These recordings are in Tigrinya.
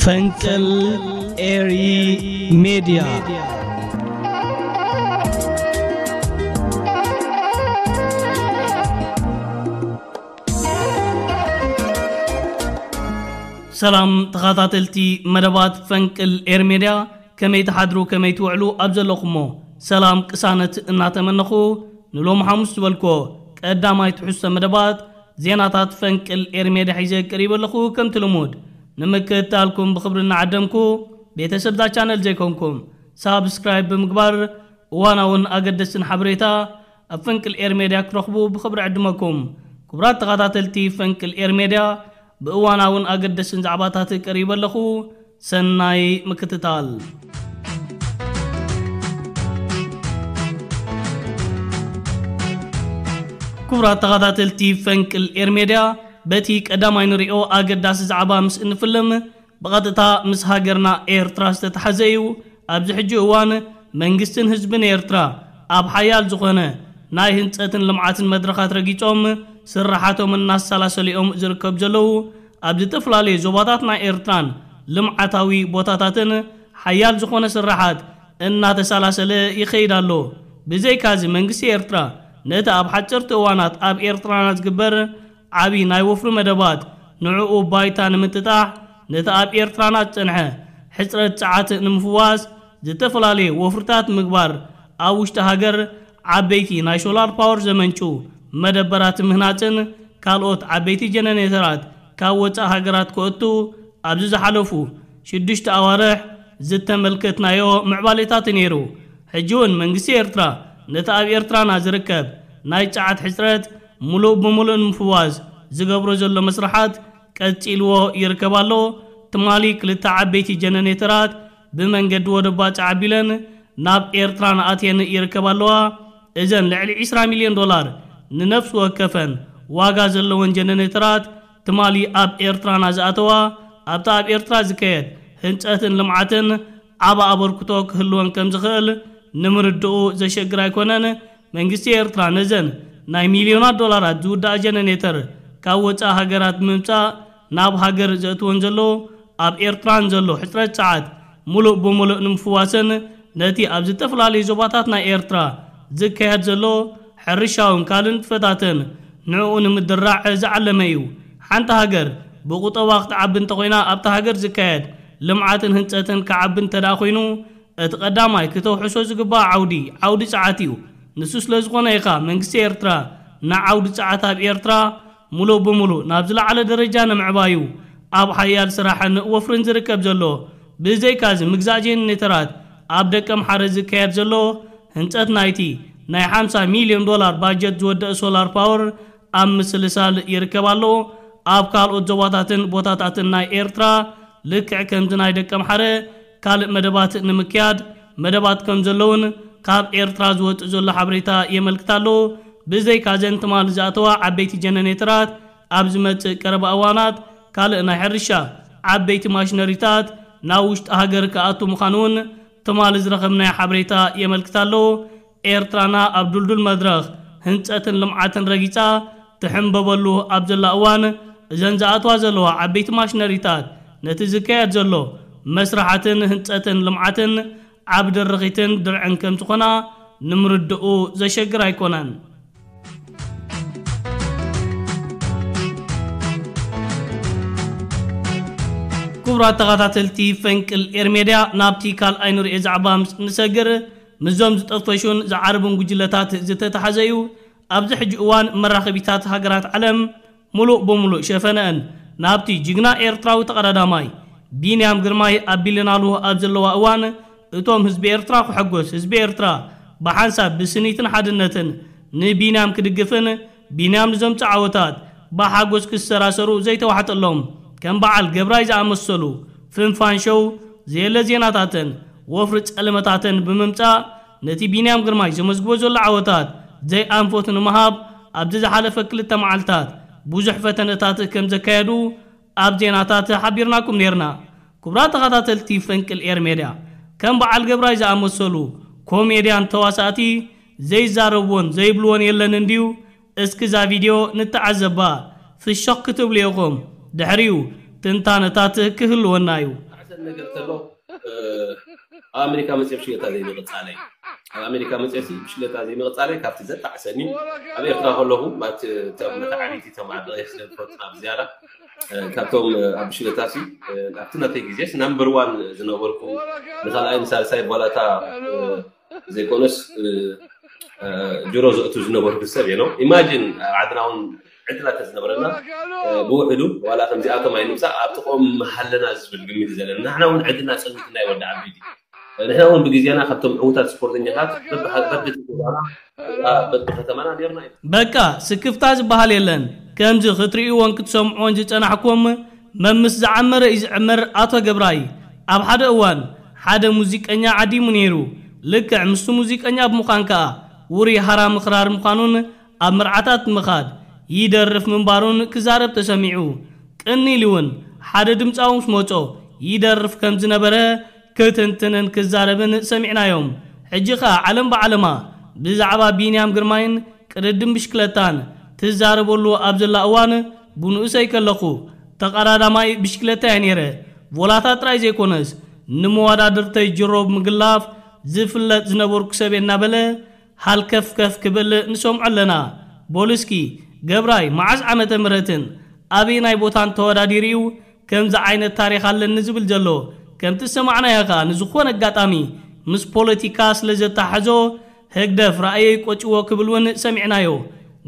ፈንቅል ኤሪ ሜድያ። ሰላም ተኸታተልቲ መደባት ፈንቅል ኤር ሜድያ፣ ከመይ ትሓድሩ፣ ከመይ ትውዕሉ ኣብ ዘለኹሞ ሰላም ቅሳነት እናተመነኹ፣ ንሎም ሓሙስ ዝበልኮ ቀዳማይ ትሕዝቶ መደባት ዜናታት ፈንቅል ኤር ሜድያ ሒዘ ቀሪበ ኣለኹ። ከምቲ ልሙድ ንምክትታልኩም ብኽብሪ እናዓደምኩ፣ ቤተሰብ እዛ ቻነል ዘይኮንኩም ሳብስክራይብ ብምግባር እዋናውን ኣገደስትን ሓበሬታ ኣብ ፈንቅል ኤር ሜድያ ክረኽቡ ብኽብሪ ዕድመኩም። ክቡራት ተኸታተልቲ ፈንቅል ኤር ሜድያ፣ ብእዋናውን ኣገደስትን ዛዕባታት ቀሪበ ኣለኹ። ሰናይ ምክትታል። ክቡራት ተኸታተልቲ ፈንቅል ኤር ሜድያ፣ በቲ ቀዳማይ ንሪኦ ኣገዳሲ ዛዕባ ምስ እንፍልም፣ ብቐጥታ ምስ ሃገርና ኤርትራ ዝተተሓዘ እዩ። ኣብዚ ሕጂ እዋን መንግስትን ህዝብን ኤርትራ ኣብ ሓያል ዝኾነ ናይ ህንጸትን ልምዓትን መድረኻት ረጊጾም ስራሓቶም እናሰላሰሉ እዮም ዝርከቡ ዘለዉ። ኣብ ዝተፈላለዩ ዞባታት ናይ ኤርትራን ልምዓታዊ ቦታታትን ሓያል ዝኾነ ስራሓት እናተሰላሰለ ይኸይድ ኣሎ። ብዘይካዚ መንግስቲ ኤርትራ ነቲ ኣብ ሓጸርቲ እዋናት ኣብ ኤርትራና ዝግበር ዓቢ ናይ ወፍሪ መደባት ንዕኡ ባይታ ንምጥጣሕ፣ ነቲ ኣብ ኤርትራና ዝጸንሐ ሕጽረት ጸዓት ንምፍዋስ ዝተፈላለዩ ወፍርታት ምግባር፣ ኣብ ውሽጢ ሃገር ዓበይቲ ናይ ሶላር ፓወር ዘመንጩ መደበራት ምህናጽን ካልኦት ዓበይቲ ጀነሬተራት ካብ ወጻኢ ሃገራት ክእቱ ኣብዚ ዝሓለፉ ሽዱሽተ ኣዋርሕ ዝተመልከትናዮ ምዕባሌታት ነይሩ። ሕጂ እውን መንግስቲ ኤርትራ ነቲ ኣብ ኤርትራና ዝርከብ ናይ ጸዓት ሕጽረት ሙሉእ ብሙሉእ ንምፍዋስ ዝገብሮ ዘሎ መስርሓት ቀጺልዎ ይርከብ ኣሎ። ትማሊ ክልተ ዓበይቲ ጀነሬተራት ብመንገዲ ወደብ ባጽዕ ኣቢለን ናብ ኤርትራ ንኣትየን ይርከባ ኣለዋ። እዘን ልዕሊ ዕስራ ሚልዮን ዶላር ንነፍሲ ወከፈን ዋጋ ዘለወን ጀነሬተራት ትማሊ ኣብ ኤርትራና ዝኣተዋ፣ ኣብቲ ኣብ ኤርትራ ዝካየድ ህንጸትን ልምዓትን ዓቢ ኣበርክቶ ክህልወን ከም ዝኽእል ንምርድኡ ዘሸግር ኣይኮነን። መንግስቲ ኤርትራ ነዘን ናይ ሚልዮናት ዶላራት ዝውድኣ ጀነሬተር ካብ ወጻኢ ሃገራት ብምምጻእ ናብ ሃገር ዘእትወን ዘሎ፣ ኣብ ኤርትራን ዘሎ ሕጽረት ጸዓት ሙሉእ ብሙሉእ ንምፍዋስን ነቲ ኣብ ዝተፈላለዩ ዞባታት ናይ ኤርትራ ዝካየድ ዘሎ ሕርሻውን ካልእ ንጥፈታትን ንዕኡ ንምድራዕ ዝዓለመ እዩ። ሓንቲ ሃገር ብቁጠባ ክትዓቢ እንተኾይና፣ ኣብታ ሃገር ዝካየድ ልምዓትን ህንጸትን ክዓቢ እንተ ደኣ ኮይኑ፣ እቲ ቀዳማይ ክተውሕሶ ዝግባእ ዓውዲ፣ ዓውዲ ጸዓት እዩ። ንሱ ስለ ዝኾነ ኢኻ መንግስቲ ኤርትራ ንዓውዲ ጸዓት ኣብ ኤርትራ ሙሉእ ብሙሉእ ናብ ዝለዓለ ደረጃ ንምዕባዩ ኣብ ሓያል ስራሕን ወፍርን ዝርከብ ዘሎ። ብዘይካዚ ምግዛእ ጀነሬተራት ኣብ ደቀምሓረ ዝካየድ ዘሎ ህንጸት ናይቲ ናይ ሓምሳ ሚልዮን ዶላር ባጀት ዝወደአ ሶላር ፓወር ኣብ ምስልሳል ይርከብ ኣሎ። ኣብ ካልኦት ዞባታትን ቦታታትን ናይ ኤርትራ ልክዕ ከምዚ ናይ ደቀምሓረ ካልእ መደባት ንምክያድ መደባት ከም ዘለውን ካብ ኤርትራ ዝወጽእ ዘሎ ሓበሬታ የመልክት ኣሎ። ብዘይካዘን ትማሊ ዝኣተዋ ዓበይቲ ጀነሬተራት ኣብ ዝመጽእ ቀረባ እዋናት ካልእ ናይ ሕርሻ ዓበይቲ ማሽነሪታት ናብ ውሽጢ ሃገር ክኣቱ ምዃኑ እውን ትማሊ ዝረኸብናዮ ሓበሬታ የመልክት ኣሎ። ኤርትራና ኣብ ድልዱል መድረኽ ህንጸትን ልምዓትን ረጊጻ ትሕንበበሉ ኣብ ዘላ እዋን፣ እዘን ዝኣትዋ ዘለዋ ዓበይቲ ማሽነሪታት ነቲ ዝካየድ ዘሎ መስራሓትን ህንጸትን ልምዓትን ዓቢ ድርኺትን ድርዕን ከም ዝኾና ንምርድኡ ዘሸግር ኣይኮነን። ክቡራት ተኸታተልቲ ፈንቅል ኤር ሜድያ፣ ናብቲ ካልኣይ ንሪኦ ዛዕባ ምስ ንሰግር፣ ምስዞም ዝጠፈሹን ዝዓርቡን ጉጅለታት ዝተተሓዘ እዩ። ኣብዚ ሕጂ እዋን መራኸቢታት ሃገራት ዓለም ሙሉእ ብሙሉእ ሸፈነአን ናብቲ ጅግና ኤርትራዊ ተቐዳዳማይ ቢንያም ግርማይ ኣቢለናሉ ኣብ ዘለዋ እዋን፣ እቶም ህዝቢ ኤርትራ ክሕጎስ፣ ህዝቢ ኤርትራ ብሓንሳብ ብስኒትን ሓድነትን ንቢንያም ክድግፍን ቢንያም ንዘምጽኦ ዓወታት ብሓጎስ ክሰራሰሩ ዘይተዋሕጠሎም ከም በዓል ገብራይ ዝኣመሰሉ ፍንፋን ሸው ዘየለ ዜናታትን ወፍሪ ጸለመታትን ብምምጻእ ነቲ ቢንያም ግርማይ ዘመዝግቦ ዘሎ ዓወታት ዘይኣንፈቱ ንምሃብ ኣብዚ ዝሓለፈ ክልተ መዓልታት ብዙሕ ፈተነታት ከም ዘካየዱ ኣብ ዜናታት ሓቢርናኩም ነይርና። ክቡራት ተኸታተልቲ ፈንቅል ኤር ሜድያ፣ ከም በዓል ገብራይ ዝኣመሰሉ ኮሜድያን ተዋሳእቲ ዘይዛረብዎን ዘይብልዎን የለን እንድዩ። እስኪ እዛ ቪድዮ ንተዓዘባ፣ ፍሸኽ ክትብሉ ኢኹም። ድሕሪኡ ትንታነታት ክህልወና እዩ። ነገር ከሎ ኣብ ኣሜሪካ መፅእ ብሽክለታ ዘይምቕፃለይ ኣብ ኣሜሪካ መፅእሲ ብሽክለታ ዘይምቕፃለይ ካብቲ ዘጣዕሰኒ ኣብ ኤርትራ ከለኹ ማለት እቶም መተዓቢቲ እቶም ዓበይቲ ስለዝፈልጡና ብዝያዳ ካብቶም ኣብ ብሽክለታ ሲ ኣብቲ ናተይ ግዜስ ናምበር ዋን ዝነበርኩ ንካልኣይ ንሳልሳይ ቧላታ ዘይኮነስ ጅሮ ዘእቱ ዝነበርኩ ሰብ እየ ነው ኢማጂን ኣብ ዓድና እውን ዕድላት ተዝነበረና ብውሕዱ ዋላ ከምዚኣቶም ኣይንምፃእ ኣብ ጥቕኦም መሃለና ዝብል ግምት እዩ ዘለና ንሕና እውን ዕድልና ፀልምትና ይወዲ ዓበይቲ ንሕና እውን ብግዜና ካብቶም ዕዉታት ስፖርተኛታት በብከተማና ነርና ኢና በቃ ስክፍታ ዝበሃል የለን ከምዚ ክትርእይዎን ክትሰምዕዎን ዝፀናሕኩም መምስ ዝዓመረ እዩ ዝዕመር ኣቶ ገብራይ ኣብ ሓደ እዋን ሓደ ሙዚቀኛ ዓዲሙ ነይሩ ልክዕ ምስቲ ሙዚቀኛ ብምዃን ከኣ ውሩይ ሃራ ምኽራር ምዃኑን ኣብ መርዓታት ምኻድ ይደርፍ ምንባሩን ክዛረብ ተሰሚዑ ቅኒ ኢሉ እውን ሓደ ድምፃዊ ምስ መጾ ይደርፍ ከም ዝነበረ ክትንትንን ክዛረብን ሰሚዕናዮም ሕጂ ኸኣ ዓለም ብዓለማ ብዛዕባ ቢንያም ግርማይን ቅድድም ብሽክለታን ትዛረበሉ ኣብ ዘላ እዋን ብንኡሰይ ከለኹ ተቐዳዳማይ ብሽክለታ እየ ነይረ ቮላታ ጥራይ ዘይኮነስ ንመወዳድርተይ ጅሮ ብምግላፍ ዝፍለጥ ዝነበርኩ ሰብ እናበለ ሃልከፍከፍ ክብል ንሰምዖ ኣለና። በሉ እስኪ ገብራይ መዓዝ ዓመተ ምህረትን ኣበየናይ ቦታን ተወዳዲሩ እዩ ከምዚ ዓይነት ታሪኽ ኣለኒ ዝብል ዘሎ? ከምቲ ዝሰማዕናዮ ከኣ ንዝኾነ ኣጋጣሚ ምስ ፖለቲካ ስለ ዘተሓሕዞ ህግደፍ ራእየይ ቆጭዎ ክብል እውን ሰሚዕናዮ።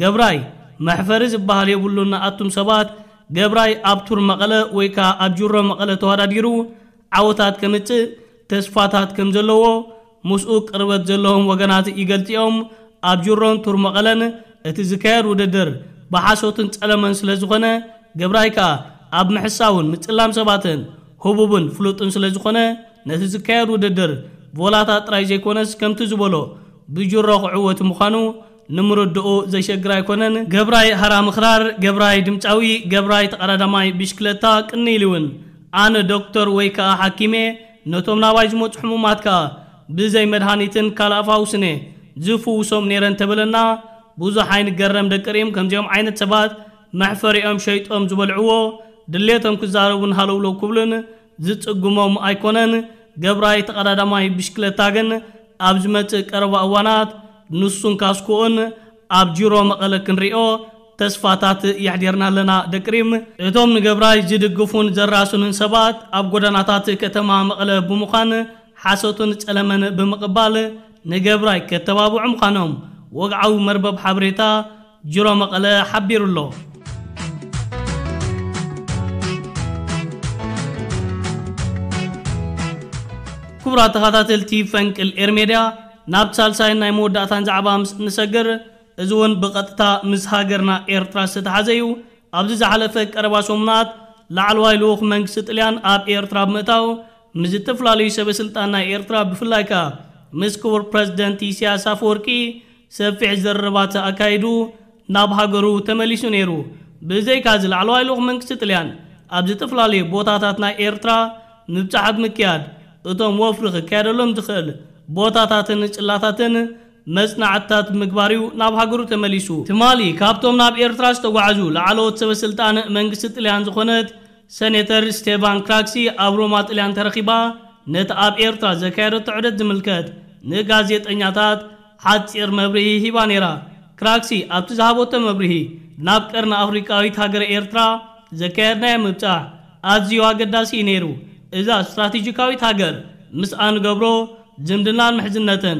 ገብራይ መሕፈሪ ዝበሃል የብሉን ንኣቱም ሰባት ገብራይ ኣብ ቱር መቐለ ወይ ከኣ ኣብ ጅሮ መቐለ ተወዳዲሩ ዓወታት ከምጽእ ተስፋታት ከም ዘለዎ ምስኡ ቅርበት ዘለዎም ወገናት ይገልጽ እዮም። ኣብ ጅሮን ቱር መቐለን እቲ ዝካየድ ውድድር ብሓሶትን ጸለመን ስለ ዝኾነ ገብራይ ከኣ ኣብ ምሕሳውን ምጽላም ሰባትን ህቡብን ፍሉጥን ስለ ዝኾነ ነቲ ዝካየድ ውድድር ቮላታ ጥራይ ዘይኮነስ ከምቲ ዝበሎ ብጅሮ ክዕወት ምዃኑ ንምርድኡ ዘሸግር ኣይኮነን። ገብራይ ሃራ ምኽራር፣ ገብራይ ድምፃዊ፣ ገብራይ ተቐዳዳማይ ብሽክለታ ቅኒ ኢሉ እውን ኣነ ዶክተር ወይ ከኣ ሓኪሜ ነቶም ናባይ ዝመፁ ሕሙማት ከኣ ብዘይ መድሃኒትን ካልእ ኣፋውስን እየ ዝፍውሶም ነይረ እንተበለና ብዙሕ ኣይንገረም ደቂ ሪም ከምዚኦም ዓይነት ሰባት መሕፈሪኦም ሸይጦም ዝበልዕዎ ድሌቶም ክዛረቡን ሃለውለው ክብሉን ዝጽግሞም ኣይኮነን። ገብራይ ተቐዳዳማይ ብሽክለታ ግን ኣብ ዝመጽእ ቀረባ እዋናት ንሱን ካስኮኡን ኣብ ጅሮ መቐለ ክንሪኦ ተስፋታት የሕዲርና ኣለና። ደቂ ሪም እቶም ንገብራይ ዝድግፉን ዘራስኑን ሰባት ኣብ ጎደናታት ከተማ መቐለ ብምዃን ሓሶትን ጸለመን ብምቕባል ንገብራይ ከተባብዑ ምዃኖም ወግዓዊ መርበብ ሓበሬታ ጅሮ መቐለ ሓቢሩ ኣሎ። ክቡራት ተኸታተልቲ ፈንቅል ኤርሜድያ ናብ ሳልሳይን ናይ መወዳእታን ዛዕባ ምስ እንሰግር እዚ እውን ብቐጥታ ምስ ሃገርና ኤርትራ ዝተተሓዘ እዩ። ኣብዚ ዝሓለፈ ቀረባ ሰሙናት ላዕለዋይ ልኡኽ መንግስቲ ጥልያን ኣብ ኤርትራ ብምእታው ምስ ዝተፈላለዩ ሰበ ስልጣን ናይ ኤርትራ ብፍላይ ከኣ ምስ ክቡር ፕረዚደንት ኢሳያስ ኣፈወርቂ ሰፊሕ ዘረባተ ኣካይዱ ናብ ሃገሩ ተመሊሱ ነይሩ። ብዘይካዚ ላዕለዋይ ልኡኽ መንግስቲ ጥልያን ኣብ ዝተፈላለዩ ቦታታት ናይ ኤርትራ ምብጻሕ ብምክያድ እቶም ወፍሪ ክካየደሎም ዝኽእል ቦታታትን ጽላታትን መጽናዕትታት ምግባር እዩ ናብ ሃገሩ ተመሊሱ። ትማሊ ካብቶም ናብ ኤርትራ ዝተጓዓዙ ላዕለዎት ሰበ ስልጣን መንግስቲ ጥልያን ዝኾነት ሰኔተር ስቴቫን ክራክሲ ኣብ ሮማ ጥልያን ተረኺባ ነቲ ኣብ ኤርትራ ዘካየደቶ ዑደት ዝምልከት ንጋዜጠኛታት ሓጺር መብርሂ ሂባ ነይራ። ክራክሲ ኣብቲ ዝሃበቶ መብርሂ ናብ ቀርኒ ኣፍሪቃዊት ሃገረ ኤርትራ ዘካየድናዮ ምብጻሕ ኣዝዩ ኣገዳሲ እዩ ነይሩ። እዛ ስትራቴጂካዊት ሃገር ምስ ኣንገብሮ ዝምድናን ምሕዝነትን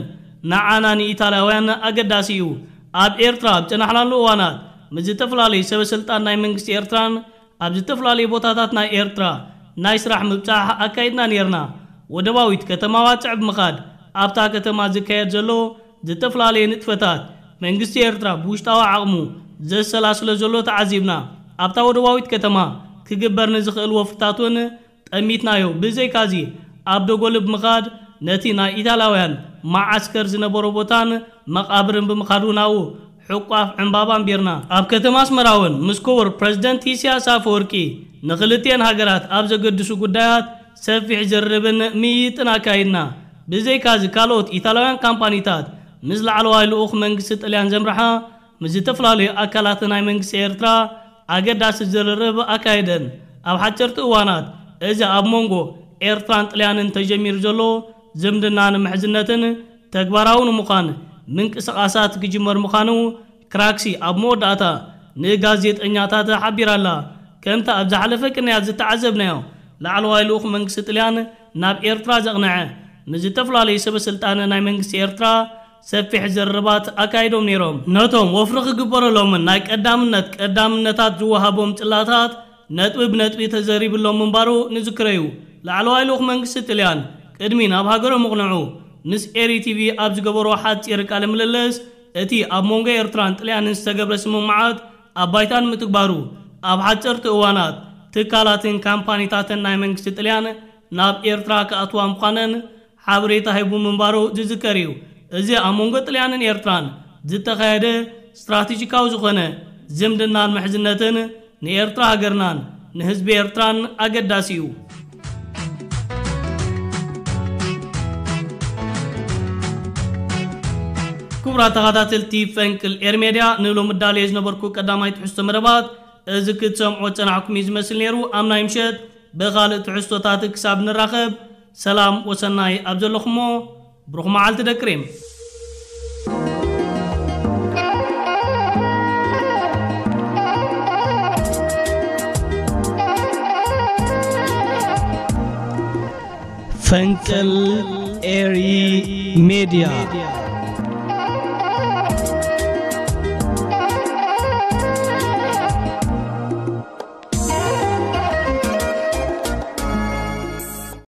ንዓና ንኢታልያውያን ኣገዳሲ እዩ። ኣብ ኤርትራ ኣብ ጸናሕናሉ እዋናት ምስ ዝተፈላለዩ ሰበ ስልጣን ናይ መንግስቲ ኤርትራን ኣብ ዝተፈላለዩ ቦታታት ናይ ኤርትራ ናይ ስራሕ ምብጻሕ ኣካይድና ነይርና። ወደባዊት ከተማ ዋጽዕ ብምኻድ ኣብታ ከተማ ዝካየድ ዘሎ ዝተፈላለዩ ንጥፈታት መንግስቲ ኤርትራ ብውሽጣዊ ዓቕሙ ዘሰላስሎ ዘሎ ተዓዚብና። ኣብታ ወደባዊት ከተማ ክግበር ንዝኽእል ወፍርታት እውን ጠሚትናዮ። ብዘይካዚ ኣብ ደጎል ብምኻድ ነቲ ናይ ኢታላውያን መዓስከር ዝነበሮ ቦታን መቓብርን ብምኻድ እውን ኣብኡ ሕቋፍ ዕምባባ ኣንቢርና። ኣብ ከተማ ኣስመራ እውን ምስ ክቡር ፕረዚደንት ኢሳያስ ኣፈወርቂ ንኽልቲኤን ሃገራት ኣብ ዘገድሱ ጉዳያት ሰፊሕ ዝርርብን ምይይጥን ኣካይድና። ብዘይካዚ ካልኦት ኢታላውያን ካምፓኒታት ምስ ላዕለዋይ ልኡኽ መንግስቲ ጥልያን ዘምርሓ ምስ ዝተፈላለዩ ኣካላት ናይ መንግስቲ ኤርትራ ኣገዳሲ ዝርርብ ኣካይደን። ኣብ ሓጨርቲ እዋናት እዚ ኣብ መንጎ ኤርትራን ጥልያንን ተጀሚሩ ዘሎ ዝምድናን ምሕዝነትን ተግባራዊ ንምዃን ምንቅስቓሳት ክጅመር ምዃኑ ክራክሲ ኣብ መወዳእታ ንጋዜጠኛታት ሓቢራላ። ከምቲ ኣብ ዝሓለፈ ቅንያት ዝተዓዘብናዮ፣ ላዕለዋይ ልኡኽ መንግስቲ ጥልያን ናብ ኤርትራ ዘቕንዐ ምስ ዝተፈላለዩ ሰበ ስልጣን ናይ መንግስቲ ኤርትራ ሰፊሕ ዘረባት ኣካይዶም ነይሮም። ነቶም ወፍሪ ክግበረሎምን ናይ ቀዳምነት ቀዳምነታት ዝወሃቦም ጽላታት ነጥቢ ብነጥቢ ተዘሪብሎም ምንባሩ ንዝክረዩ። ላዕለዋይ ልኡኽ መንግስቲ ጥልያን ቅድሚ ናብ ሃገሮም ምቕንዑ ምስ ኤሪ ቲቪ ኣብ ዝገበሮ ሓጺር ቃለ ምልልስ፣ እቲ ኣብ መንጎ ኤርትራን ጥልያንን ዝተገብረ ስምምዓት ኣብ ባይታን ምትግባሩ፣ ኣብ ሓጸርቲ እዋናት ትካላትን ካምፓኒታትን ናይ መንግስቲ ጥልያን ናብ ኤርትራ ክኣትዋ ምዃነን ሓበሬታ ሂቡ ምንባሩ ዝዝከር እዩ። እዚ ኣብ መንጎ ጥልያንን ኤርትራን ዝተኻየደ ስትራቴጂካዊ ዝኾነ ዝምድናን ምሕዝነትን ንኤርትራ ሃገርናን ንህዝቢ ኤርትራን ኣገዳሲ እዩ። ክቡራት ተኸታተልቲ ፈንቅል ኤር ሜድያ፣ ንሎሚ ዳልየ ዝነበርኩ ቀዳማይ ትሕዝቶ መደባት እዚ ክትሰምዖ ጸናሕኩም እዩ ዝመስል ነይሩ። ኣብ ናይ ምሸት ብኻልእ ትሕዝቶታት ክሳብ ንራኸብ፣ ሰላም ወሰናይ ኣብ ዘለኹሞ፣ ብሩኽ መዓልቲ ደቂ ሬም። ፈንቅል ኤሪ ሜድያ።